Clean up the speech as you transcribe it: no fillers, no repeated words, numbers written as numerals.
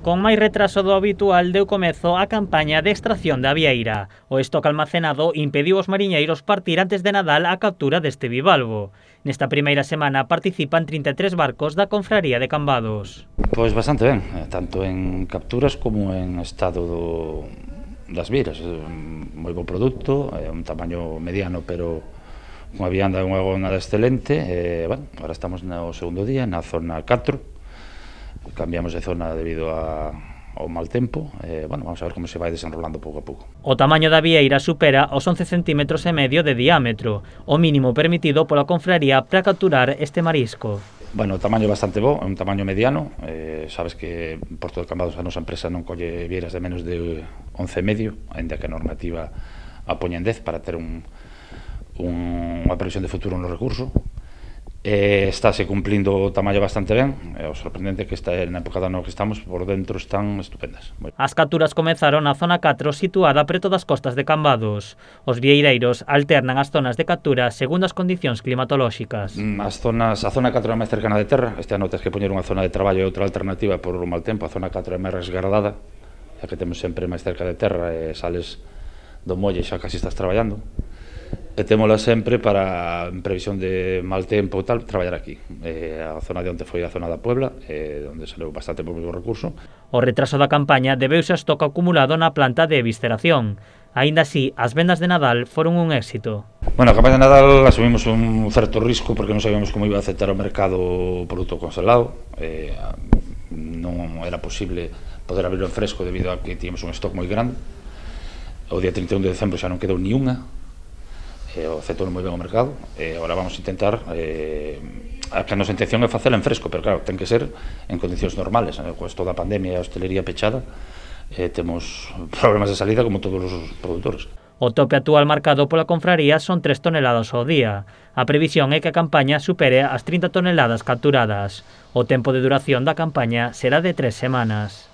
Con máis retraso do habitual deu comezo a campaña de extracción da vieira. O estoque almacenado impediu aos mariñeiros partir antes de Nadal a captura deste bivalvo. Nesta primeira semana participan 33 barcos da Confraría de Cambados. Pois bastante ben, tanto en capturas como en estado das vieiras. Moi bo produto, un tamaño mediano, pero unha vianda e unha gonada excelente. Agora estamos no segundo día, na zona 4. Cambiamos de zona debido ao mal tempo. Vamos a ver como se vai desenrolando pouco a pouco. O tamaño da vieira supera os 11,5 centímetros de diámetro, o mínimo permitido pola confraría para capturar este marisco. O tamaño é bastante bo, é un tamaño mediano. Sabes que en Porto de Cambados a nosa empresa non colle vieiras de menos de 11,5, ainda que a normativa a poña en 10 para ter unha previsión de futuro no recurso. Estáse cumplindo o tamaño bastante ben. O sorprendente que está na época do ano que estamos, por dentro están estupendas. As capturas comezaron na zona 4, situada preto das costas de Cambados. Os vieireiros alternan as zonas de captura segundo as condicións climatolóxicas. A zona 4 é máis cercana de terra. Este ano tens que poñer unha zona de traballo e outra alternativa por o mal tempo. A zona 4 é máis resguardada, xa que temos sempre máis cerca de terra e sales do molle xa casi estás traballando. E témola sempre para, en previsión de mal tempo e tal, traballar aquí. A zona de onde foi a zona da Puebla, onde saleu bastante pouco recurso. O retraso da campaña debeuse ao estoque acumulado na planta de evisceración. Aínda así, as vendas de Nadal foron un éxito. A campaña de Nadal asumimos un certo risco porque non sabíamos como iba a aceptar o mercado o produto congelado. Non era posible poder abrirlo en fresco debido a que tínhamos un stock moi grande. O día 31 de decembro xa non quedou ni unha. O aceptou moi ben o mercado. Agora vamos a intentar a que a nosa intención é facela en fresco, pero claro, ten que ser en condicións normales. Con toda a pandemia e a hostelería pechada, temos problemas de salida como todos os produtores. O tope actual marcado pola confraría son 3 toneladas ao día. A previsión é que a campaña supere as 30 toneladas capturadas. O tempo de duración da campaña será de 3 semanas.